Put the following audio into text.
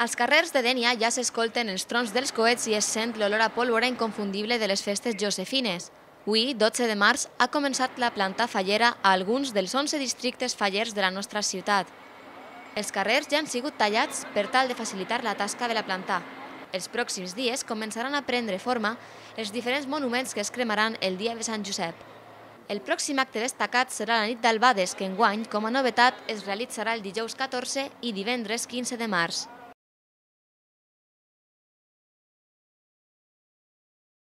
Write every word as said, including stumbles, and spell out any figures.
Als carrers de Dénia ja s'escolten els trons dels coets i es sent l'olor a pólvora inconfundible de les festes josefines. Avui, dotze de març, ha començat la planta fallera a alguns dels onze districtes fallers de la nostra ciutat. Els carrers ja han sigut tallats per tal de facilitar la tasca de la planta. Els pròxims dies començaran a prendre forma els diferents monuments que es cremaran el dia de Sant Josep. El pròxim acte destacat serà la nit d'Albades, que enguany, com a novetat, es realitzarà el dijous catorze i divendres quinze de març.